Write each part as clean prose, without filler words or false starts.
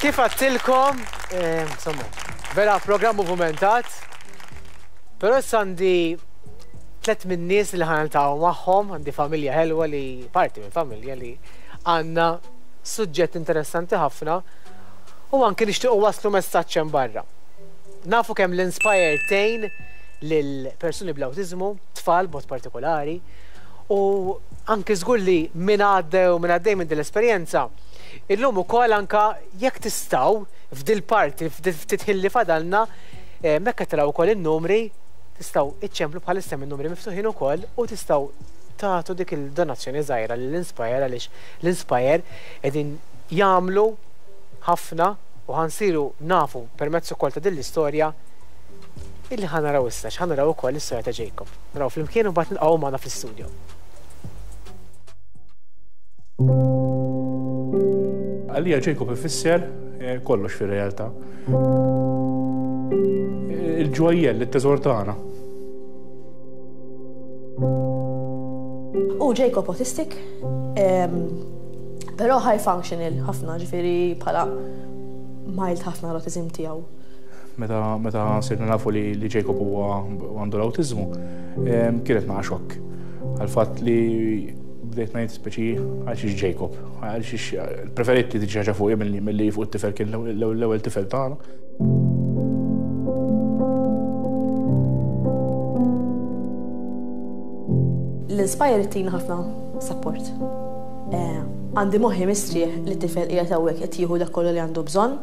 Kif għattilkom, eh, insomma, vera programm movimentat, però issa għandi tlet minn nies li ħa niltaqgħu magħhom, għandi familja ħelwa li parti minn familja li għandna suġġett interessanti ħafna u anki nixtiequ waslu messaġġ hemm barra. Nafu kemm l-Inspire tgħin lil persuni bl-awtiżmu, tfal b'mod partikolari, u anki żgur li min għaddew min għaddej minn din l-esperjenza, illum ukoll anka jekk tistgħu f'dil-parti, ftit ħin li fadalna, hemmhekk qed taraw ukoll in-numri, tistgħu iċċemplu bħalissa hemm in-numri miftuħin ukoll u tistgħu tagħtu dik il-donazzjoni żgħira lill-Inspire għaliex l-Inspire qegħdin jagħmlu ħafna u ħa nsiru nafu permezz ukoll ta' din l-istorja illi ħa naraw issa, x'ħa naraw ukoll l-istorja ta' Jacob. Naraw flimkien u mbagħad nilqgħu magħna fl-istudio. Għalija Jacob ifisser eh, kollox fir-realtà. Il-ġwajjel, it-teżor tagħna. U Jacob autistic, però high functional ħafna, ġifieri bħala mild ħafna l-autism tiegħu. Meta meta sirna nafu li, li Jacob huwa għandu l-autizmu, kienet naqa xokk. Għal-fatt li bdejt ngħid speċi għal xiex Jacob, għal xiex preferit li tiġi ħaġa fuqi milli fuq it-tifel kien l-ewwel tifel tagħna. L-Inspire ittina ħafna support. Eh, għandi moħħi mistrieħ li t-tifel qiegħed hawnhekk qed jieħu dak kollu li għandu bżonn.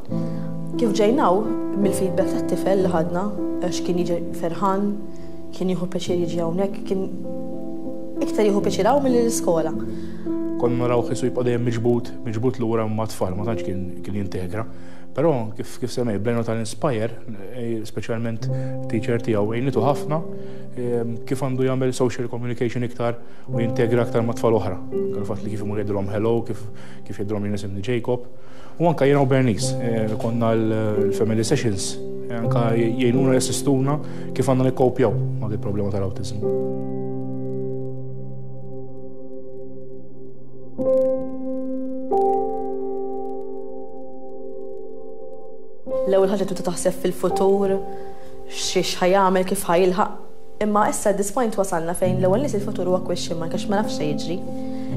Kif ġejnaw mill-feedback tat-tifel li ħadna għax kien jiġi ferħan, kien jieħu pjaċir jiġi hawnhekk, kien iktar jieħu pjaċir hawn milli l-iskola. Konna naraw qisu jibqa' dejjem miġbud, miġbud lura mat-tfal, ma tantx kien jintegra. Però kif kif semmejt bl-għajnuna tal-Inspire, eh, speċjalment teacher tiegħu għejnitu ħafna eh, kif għandu jagħmel social communication iktar u jintegra aktar ma' tfal oħra. Anke l-fatt li kif imur jgħidilhom hello, kif kif jgħidilhom jien isimni Jacob. U anka jiena u Bernice eh, konna l-family sessions, anka jgħinuna jassistuna kif għandna nikkopjaw ma' il-problema tal-awtiżmu. L-ewwel ħaġa tibda taħseb fil-futur, xiex ħa jagħmel, kif ħa jilħaq. Imma issa at this point wasalna fejn l-ewwel nies il-futur huwa question mark għax ma nafx se jiġri.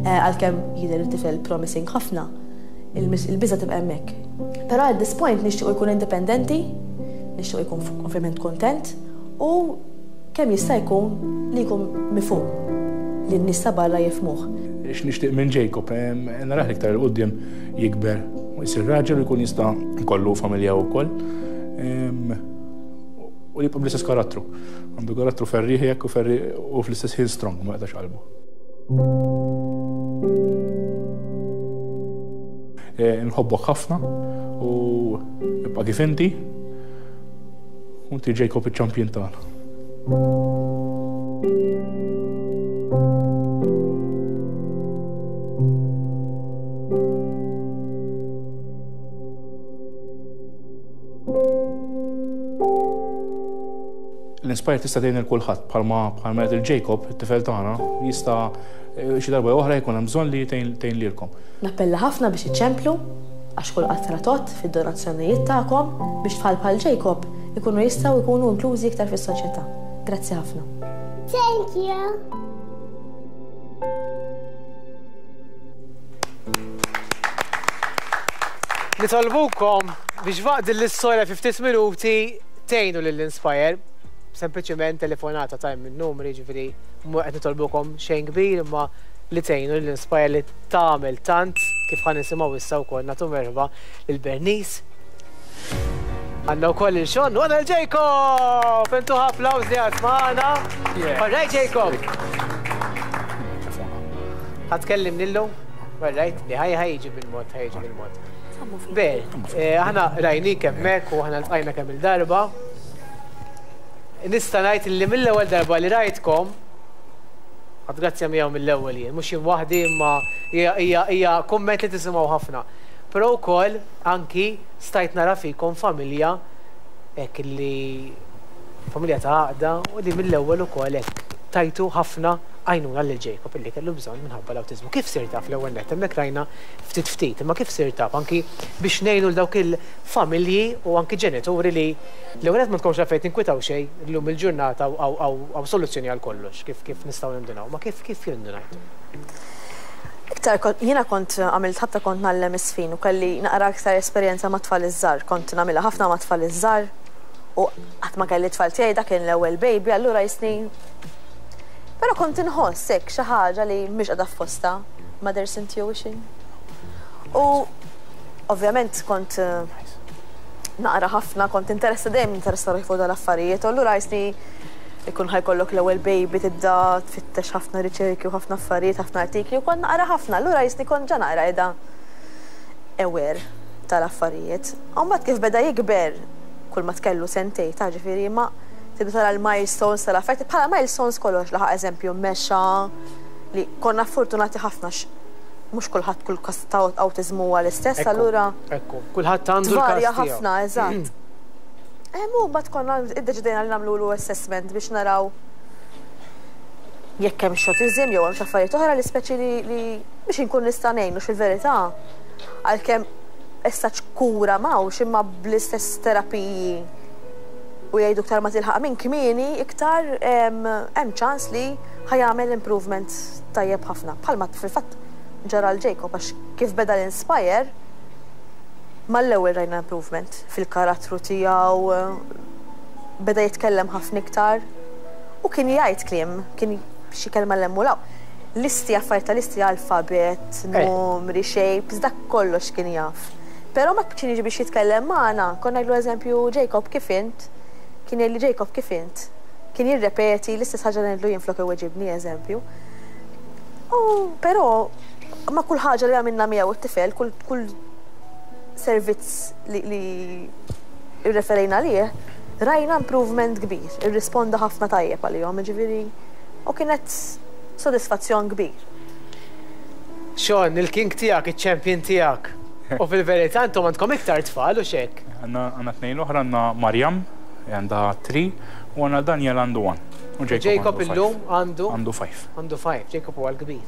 Eh, għalkemm jidher it-tifel promising ħafna, il-biża tibqa' hemmhekk. Però at this point nixtiequ jkun indipendenti, nixtiequ jkun ovvjament kuntent u kemm jista' jkun li jkun mifhum, li n-nies ta' barra jifhmuh. X'nixtieq minn Jacob? Narah iktar 'il quddiem jikber u jsir raġel u jkun jista' jkollu familja wkoll. U jibqa' bl-istess karattru. Għandu karattru ferrieħi hekk u ferri u fl-istess ħin strong, ma jaqtax qalbu. Eh, nħobbok ħafna u ibqa' kif inti. U inti Jacob iċ-champion tagħna. L-Inspire tista' tgħin lil kulħadd bħalma bħalma qed il-Jacob, it-tifel tagħna, jista' eh, xi darba oħra jkun hemm bżonn li tgħin lilkom. Nappella ħafna biex iċċemplu għax kull qatra tgħodd fid-donazzjonijiet tagħkom biex tfal bħal Jacob ikunu jistgħu jkunu inklużi iktar fis-soċjetà. Grazzi ħafna. Thank you. Nitolbukom biex waqt din l-istorja fi ftit minuti tgħinu lil Inspire. Sempliċiment telefonata ta' minn numri ġifieri mhu qed nitolbukom xejn kbir imma li tgħinu lil Inspire li tagħmel tant kif ħa nisimgħu issa wkoll nagħtu merħba lil Bernice. Għandna wkoll lil Sean u għandna lil Jacob! Intuh applaws li għad magħna. All right, Jacob. Ħa tkellimni llum? All right, li ħaj ħaj jiġi bil-mod, ħaj jiġi bil-mod. Ber, eh, aħna rajnik hemmhekk u aħna ltqajna kemm il-darba. Nista' ngħid li mill-ewwel darba li rajtkom, ħadd grazzja miegħu mill-ewwel jien, mhux jien waħdi imma hija hija kumment li tisimgħu ħafna. Però wkoll anki stajt nara fikom familja hekk li familja ta' għaqda u li mill-ewwel ukoll hekk tajtu ħafna. għajnuna lil Jacob illi kellu bżonn minħabba l-awtiżmu. Kif sirt taf l-ewwel nett? Hemmhekk rajna ftit ftit, imma kif sirt taf anki biex ngħinu 'l dawk il-familji u anki ġenituri li l-ewwel nett m'għandkomx għalfejn tinkwitaw xejn, illum il-ġurnata hawn soluzzjoni għal kollox, kif kif nistgħu nindunaw, ma kif kif indunajtu? Iktar kont jiena kont għamilt ħabta kont ngħallem iż-żfin u kelli naqra iktar esperjenza mat-tfal iż-żgħar, kont nagħmilha ħafna mat-tfal iż-żgħar u qatt ma kelli t-tfal tiegħi dak kien l-ewwel baby allura jisni Però kont inħoss hekk xi ħaġa li mhix qiegħda f'postha, mother's intuition. U ovvjament kont naqra ħafna, kont interessa dejjem interessa ruħi fuq dal-affarijiet, u allura jisni ikun ħajkollok l-ewwel baby tibda tfittex ħafna riċerki u ħafna affarijiet, ħafna artikli, u kont naqra ħafna, allura jisni kont ġa naqra qiegħda aware tal-affarijiet. U mbagħad kif beda jikber, kull ma tkellu sentej ta' ġifieri ma tibda tara l-milestones tal-affarijiet, bħala milestones kollox laħaq eżempju mexa li konna fortunati ħafna mhux kulħadd kull każ ta' awtiżmu huwa l-istess, allura. Ekku, kulħadd għandu l-każ tiegħu. ħafna, eżatt. Hemm u mbagħad konna iddeċidejna li nagħmlulu assessment biex naraw jekk hemm autism jew hemm xi affarijiet oħra li speċi li biex inkun nista' ngħinu fil-verità għalkemm issa kura m'hawnx imma bl-istess terapiji u jgħidu iktar ma tilħaq minn kmieni iktar hemm ċans li ħa jagħmel improvement tajjeb ħafna. Bħalma fil-fatt ġara l Jacob għax kif beda l-Inspire mal-ewwel rajna improvement fil-karattru tiegħu, beda jitkellem ħafna iktar u kien jgħid kliem, kien xi kelma 'l hemm u 'l hawn. Listi, affarijiet ta' listi, alfabet, numri, shapes, dak kollox kien jaf. Però ma kien jiġi biex jitkellem magħna, konna ngħidlu eżempju, Jacob kif int? Kien jgħidli Jacob kif int? Kien jirrepeti l-istess ħaġa li ngħidlu jien flok iweġibni eżempju. U però ma' kull ħaġa li għamilna miegħu t-tifel, kull kull servizz li li rreferejna għalih, rajna improvement kbir, irrisponda ħafna tajjeb għalihom, jiġifieri u kienet sodisfazzjon kbir. Sean, il-king tiegħek, iċ-champion tiegħek. U fil-verità intom għandkom iktar tfal, hux hekk? Għandna tnejn oħra, għandna Mariam, li għandha three, u għandna Daniel għandu one. U Jacob Jacob illum għandu? Għandu five. Għandu five. Jacob huwa l-kbir.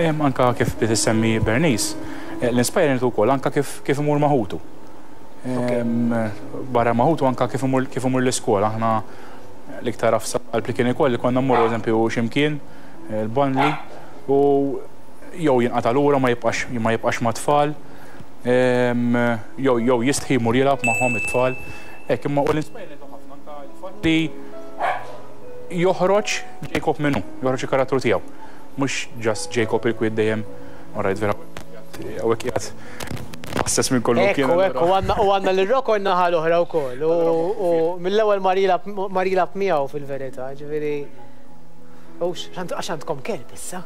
Anka kif bdiet issemmi Bernice, l-Inspire ngħidu wkoll anka kif kif imur ma' ħutu. Barra ma' ħutu anka kif imur kif imur l-iskola. Aħna l-iktar għafsa qalb li kien ikolli konna mmorru eżempju xi mkien, il-Burnley, u jew jinqata' lura ma jibqax ma jibqax mat-tfal, jew jew jistħi jmur jilgħab magħhom it-tfal. Hekk imma u l-Inspire ngħidu ħafna anke l-fatt li joħroġ Jacob min hu, joħroġ il-karattru tiegħu. Mhux just Jacob il-kwiet dejjem, all right vera hawnhekk qiegħed ħasses minn kollu kien. Ekku, ekku, u għandna lil Rocco n-naħa l-oħra wkoll. U mill-ewwel mar jilgħab miegħu fil-verità, ġifieri. Hux, għax għandkom kelb issa.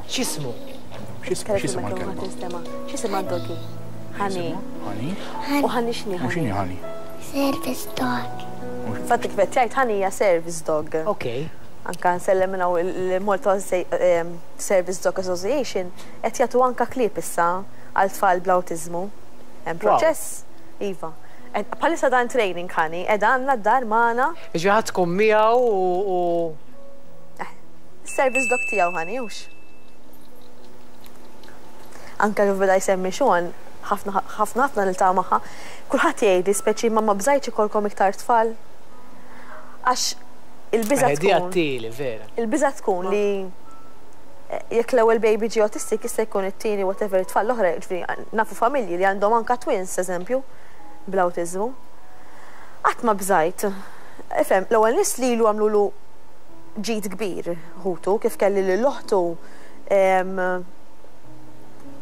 X'ismu? X'ismu l-kelba? X'ismu d-doggy? Honey. Honey? U Honey x'inhi Honey? U x'inhi Honey? Service dog. Infatti kif qed jgħid Honey hija service dog. Ok. Anka nsellem minn hawn il-Malta Service Dog Association qed jagħtu anka klieb issa għal tfal bl-awtiżmu. Hemm proċess. Iva. Bħalissa dan training Honey, qiegħda għandna d-dar magħna. Jiġifieri ħa tkun miegħu u. Eh, is-service dog tiegħu Honey hux. Anke kif beda jsemmi Sean, ħafna ħafna ħafna niltaqa' magħha, kulħadd jgħidli speċi ma ma bżajtx ikollkom iktar tfal? Għax il-biża' tkun. Di għattieli, vera. Il-biża' tkun li jekk l-ewwel baby ġie autistic jista' jkun it-tieni whatever it-tfal l-oħra, jiġifieri nafu familji li għandhom anke twins eżempju bl-awtiżmu. Qatt ma bżajt. Ifhem, l-ewwel nies lilu għamlulu ġid kbir ħutu, kif kelli lil oħtu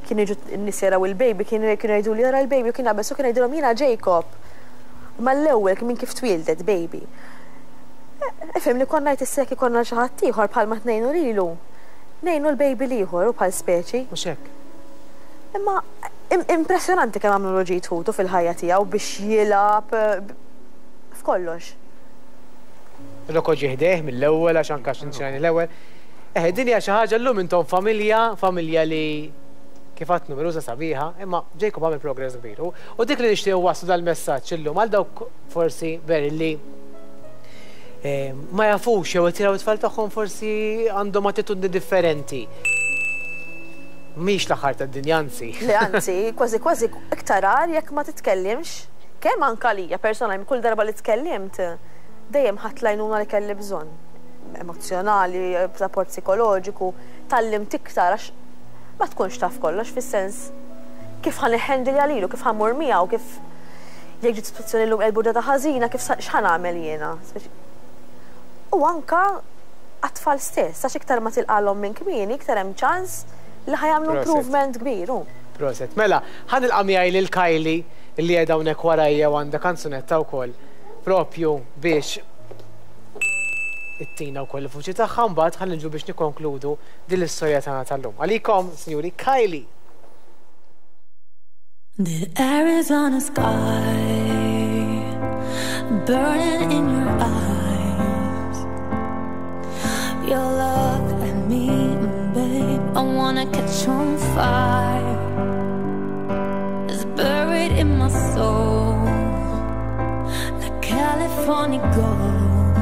kienu jiġu n-nies jaraw il-baby, kienu jgħiduli ara l-baby u kien naqbeż u kien ngħidilhom jiena Jacob. Mal-ewwel minn kif twieldet baby. Ifhem li kont ngħid issa jekk ikollna xi ħadd ieħor bħalma tnejnu lilu, ngħinu l-baby l-ieħor u bħal speċi. Mhux hekk. Imma impressjonanti kemm għamlulu ġid ħutu fil-ħajja tiegħu biex jilgħab f'kollox. Rocco ġie ħdejh mill-ewwel għax anke għax inti l-ewwel. Eħe, din hija xi ħaġa llum intom familja, familja li kif għedt numeruża sabiħa, imma Jacob għamel progress kbir. U dik li nixtieq wasslu dal-messaġġ illum għal dawk forsi Beryl li. Ma jafux jew qed jaraw it-tfal tagħhom forsi għandhom attitudni differenti. Mhix l-aħħar tad-dinja anzi. Le anzi, kważi kważi iktar agħar jekk ma titkellimx. Kemm anke għalija personalment kull darba li tkellimt dejjem ħadt l-għajnuna li kelli bżonn. Emozzjonali, sapport psikoloġiku, tgħallimt iktar għax ma tkunx taf kollox fis-sens kif ħa niħħendilja lilu, kif ħa mmur miegħu, kif jekk ġiet sitwazzjoni llum qiegħed burdata ħażina kif x'ħa nagħmel jiena. U anke għat-tfal stess, għax iktar ma tilqalhom minn kmieni, iktar hemm ċans li ħa jagħmlu improvement kbir. Proset. Mela, ħa nilqa' miegħi lil Kylie li qiegħda hawnhekk warajja u għandha kanzunetta wkoll propju biex ittina wkoll il-vuċi tagħha mbagħad ħa niġu biex nikkonkludu din l-istorja tagħna tal-lum. Għalikom, sinjuri, Kylie! The Arizona sky Burning in your eyes You look at me, babe I wanna catch on fire It's buried in my soul Like California gold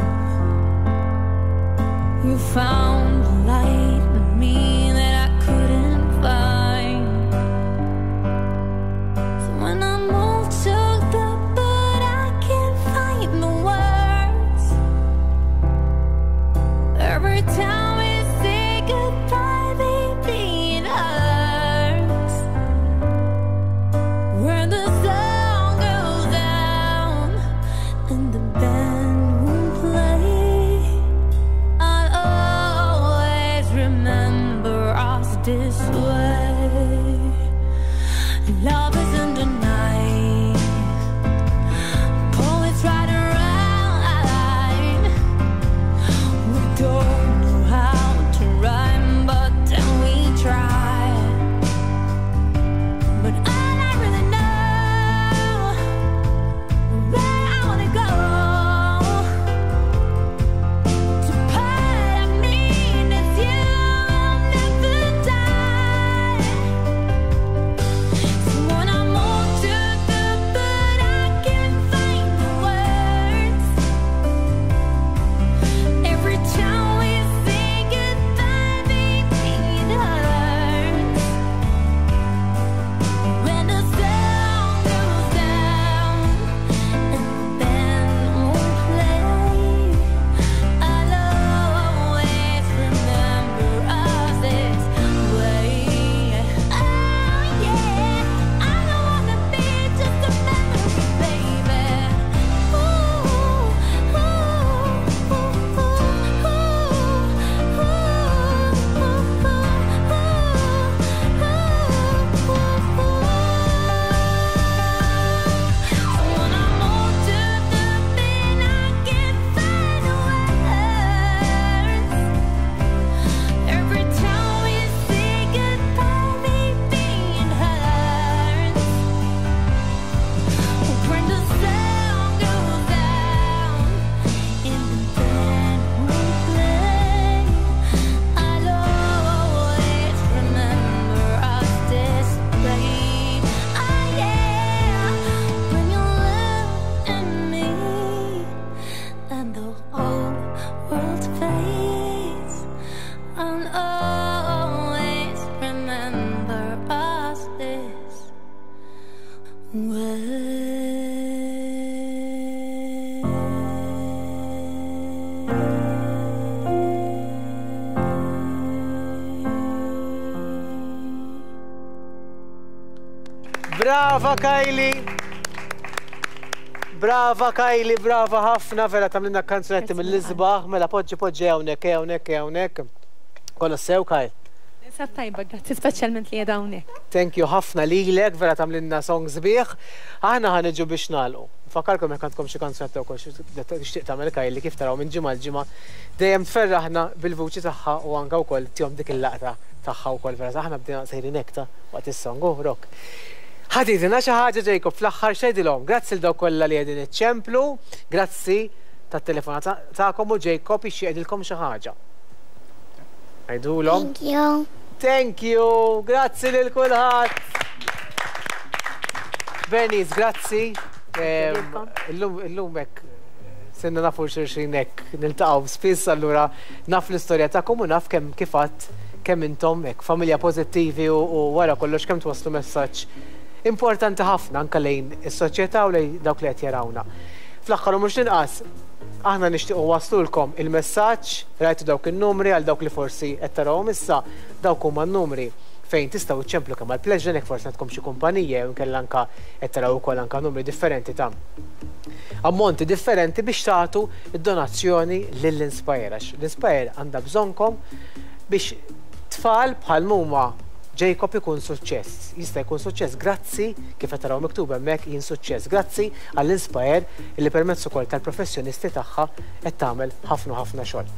You found the light in me that I couldn't find So when I'm all choked up but I can't find the words Every time we say goodbye, baby, it hurts When the sun goes down and the band won't play I'll always remember us this way Love is in the night Poets write around We don't know how to rhyme, but then we try But all I really know Where I wanna go To part of me that's you will never die So when I'm all choked up but I can't find the words Every time we say goodbye, baby, it hurts When the sun goes down and the band won't play I'll always remember us this way Oh yeah, I don't wanna be just a memory, baby Ooh, ooh, ooh, ooh, ooh, ooh, So when I'm all choked up and I can't find the words Every time we say goodbye, baby, it hurts When the sun goes down and the band won't play I'll always remember us this way Oh yeah, when you look at me and the whole world fades I'll always remember us this way. Brava Kylie! Brava Kylie, brava ħafna, vera tagħmlilna kanzunetti mill-isbaħ, mela poġġi poġġi hawnhekk, hawnhekk, hawnhekk. Kollox sew Kyle. Ninsab tajba, grazzi speċjalment li qiegħda hawnhekk. Thank you ħafna lilek, vera tagħmlilna song sbieħ. Aħna ħa niġu biex nagħlqu. Fakkarkom jekk għandkom xi kanzunetta wkoll xi tixtieq tagħmel Kylie kif taraw minn ġimgħa l-ġimgħa dejjem tferraħna bil-vuċi tagħha u anke wkoll tihom dik il-laqta tagħha wkoll vera aħna bdejna sejrin hekk ta' waqt is-song oh rock. Ħa tgħidilna xi ħaġa Jacob fl-aħħar x'għidilhom. Grazzi 'l dawk kollha li qegħdin iċċemplu, grazzi tat-telefonata tagħkom u Jacob jixtieq jgħidilkom xi ħaġa. Għidulhom. Thank you. Thank you, grazzi lil kulħadd. Bernice, grazzi. Illum illum hekk Sirna nafu xulxin hekk, niltaqgħu spiss allura naf l-istorja tagħkom u naf kemm kif għadt kemm intom hekk familja pożittivi u wara kollox kemm twasslu messaġġ importanti ħafna anke lejn is-soċjetà u lejn dawk li qed jarawna. Fl-aħħar u mhux l-inqas, aħna nixtiequ nwasslulkom il-messaġġ, rajtu dawk in-numri għal dawk li forsi qed tarawhom issa, dawk huma n-numri fejn tistgħu iċċemplu kemm għal Pleasure jekk forsi għandkom xi kumpanija jew inkella anke qed taraw ukoll anke numri differenti ta' ammonti differenti biex tagħtu d-donazzjoni lill-Inspire għax l-Inspire għandha bżonnkom biex tfal bħal m'huma Jacob ikun suċċess. Jista' jkun suċċess grazzi, kif qed taraw miktub hemmhekk, jien suċċess. Grazzi għall-Inspire li permezz ukoll tal-professjonisti tagħha qed tagħmel ħafna u ħafna xogħol.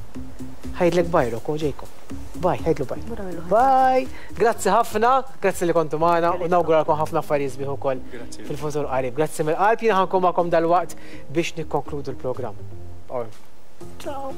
Ħajdlek bye Rocco, Jacob. Bye, ħajdlu bye. Bye! Grazzi ħafna, grazzi li kontu magħna u nawguralkom ħafna affarijiet sbieħ ukoll fil-futur qarib. Grazzi mill-qalb, jiena ħankun magħkom dalwaqt biex nikkonkludu l-programm. Ciao!